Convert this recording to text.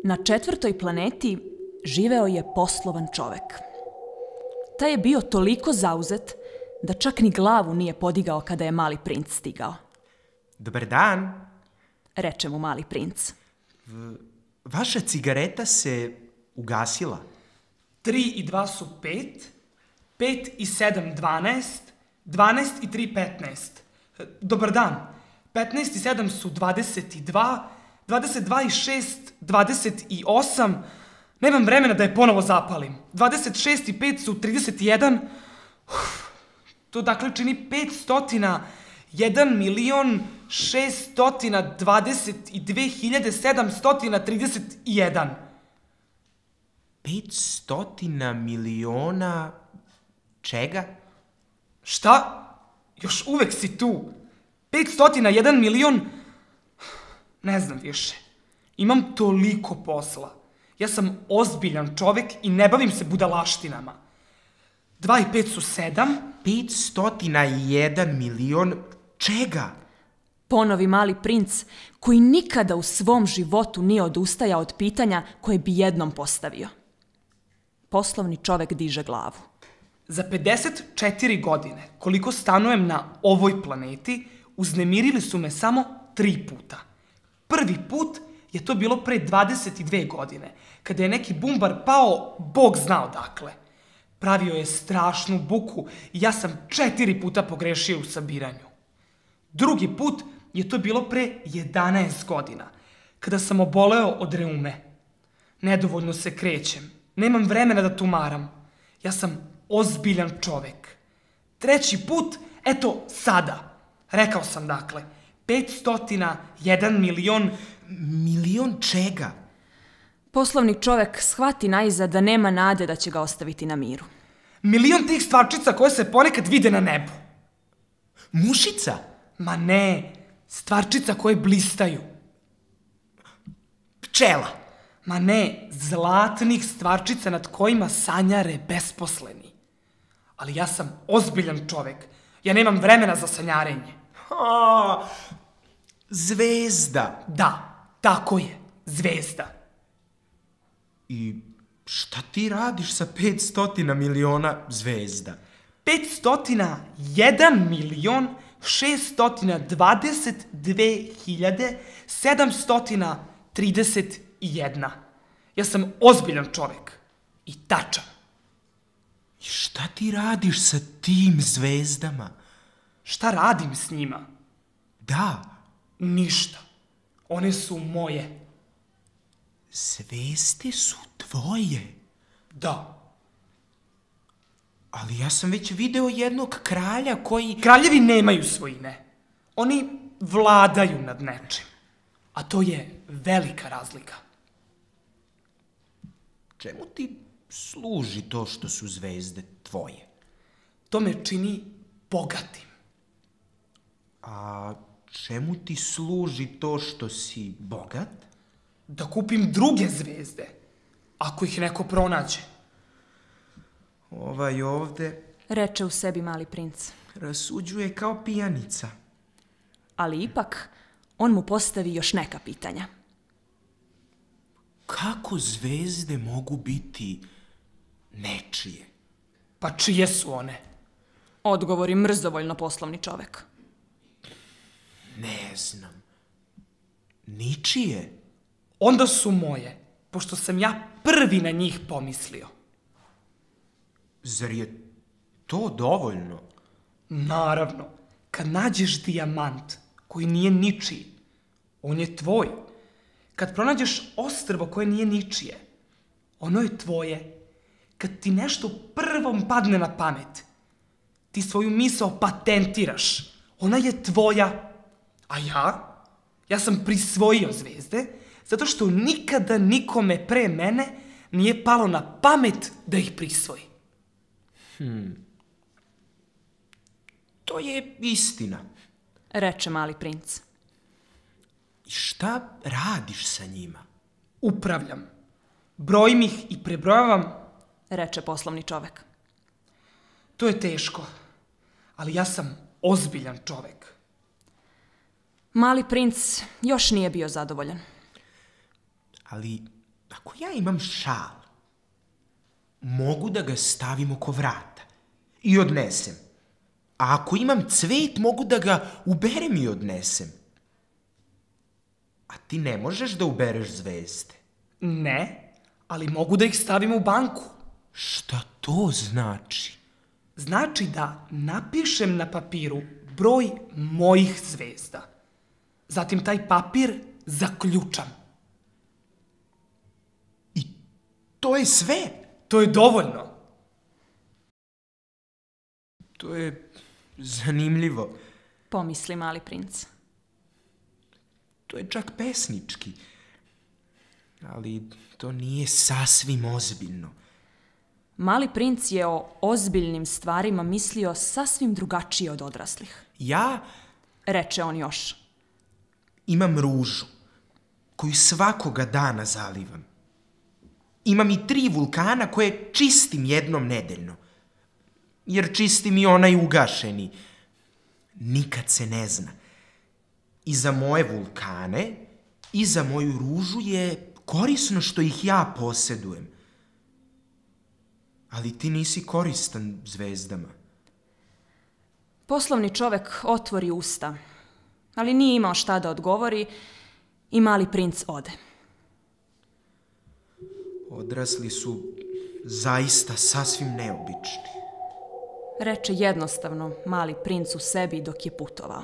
Na 4. planeti živeo je poslovan čovek. Taj je bio toliko zauzet da čak ni glavu nije podigao kada je mali princ stigao. Dobar dan. Reče mu mali princ. Vaša cigareta se ugasila. 3 i 2 su 5, 5 i 7 12, 12 i 3 15. Dobar dan. 15 i 7 su 22, 22 i 6 28. Nemam vremena da je ponovo zapalim. 26 i 5 su 31. To dakle čini 501.622.731. 500 miliona... čega? Šta? Još uvek si tu. 501 milion... Ne znam više. Imam toliko posla. Ja sam ozbiljan čovek i ne bavim se budalaštinama. 2 i 5 su 7. 501 milion... čega? Ponovi mali princ, koji nikada u svom životu nije odustajao od pitanja koje bi jednom postavio. Poslovni čovek diže glavu. Za 54 godine, koliko stanujem na ovoj planeti, uznemirili su me samo 3 puta. Prvi put je to bilo pre 22 godine, kada je neki bumbar pao, Bog zna odakle. Pravio je strašnu buku i ja sam 4 puta pogrešio u sabiranju. Drugi put je to bilo pre 11 godina, kada sam oboleo od reume. Nedovoljno se krećem, nemam vremena da tumaram. Ja sam ozbiljan čovek. Treći put, eto sada. Rekao sam dakle, 501 milion... Milion čega? Poslovni čovek shvati najzad da nema nade da će ga ostaviti na miru. Milion tih stvarčica koje se ponekad vide na nebu. Mušica? Ma ne, stvarčica koje blistaju. Pčela? Ma ne, zlatnih stvarčica nad kojima sanjare besposleni. Ali ja sam ozbiljan čovek. Ja nemam vremena za sanjarenje. Zvezda. Da, tako je, zvezda. I šta ti radiš sa 500 miliona zvezda? 501 milion 622.731. Ja sam ozbiljan čovek. I tačan. I šta ti radiš sa tim zvezdama? Šta radim s njima? Da. Ništa. One su moje. Zvezde su tvoje? Da. Ali ja sam već video jednog kralja koji... Kraljevi nemaju svojine. Oni vladaju nad nečim. A to je velika razlika. Čemu ti služi to što su zvezde tvoje? To me čini bogatim. A čemu ti služi to što si bogat? Da kupim druge zvezde, ako ih neko pronađe. Ovaj ovde... Reče u sebi mali princ. Rasuđuje kao pijanica. Ali ipak, on mu postavi još neka pitanja. Kako zvezde mogu biti nečije? Pa čije su one? Odgovori mrzovoljno poslovni čovek. Ne znam. Ničije? Onda su moje, pošto sam ja prvi na njih pomislio. Zar je to dovoljno? Naravno, kad nađeš dijamant koji nije ničiji, on je tvoj. Kad pronađeš ostrvo koje nije ničije, ono je tvoje. Kad ti nešto prvom padne na pamet, ti svoju misao patentiraš. Ona je tvoja. A ja sam prisvojio zvezde, zato što nikada nikome pre mene nije palo na pamet da ih prisvoji. To je istina. Reče mali princ. I šta radiš sa njima? Upravljam. Brojim ih i prebrojavam. Reče poslovni čovek. To je teško, ali ja sam ozbiljan čovek. Mali princ još nije bio zadovoljan. Ali Ako ja imam šal, mogu da ga stavim oko vrata i odnesem. A ako imam cvet, mogu da ga uberem i odnesem. A ti ne možeš da ubereš zvezde. Ne, ali mogu da ih stavim u banku. Šta to znači? Znači da napišem na papiru broj mojih zvezda. Zatim taj papir zaključam. I to je sve? To je dovoljno. To je zanimljivo. Pomisli mali princ. To je čak pesnički. Ali to nije sasvim ozbiljno. Mali princ je o ozbiljnim stvarima mislio sasvim drugačije od odraslih. Ja Reče on još. imam ružu koju svakoga dana zalivam. Imam i 3 vulkana koje čistim jednom nedeljno. Jer čistim i onaj ugašeni. Nikad se ne zna. I za moje vulkane i za moju ružu je korisno što ih ja posedujem. Ali ti nisi koristan zvezdama. Poslovni čovek otvori usta, ali nije imao šta da odgovori i mali princ ode. Odrasli su zaista sasvim neobični. Reče jednostavno mali princ u sebi dok je putovao.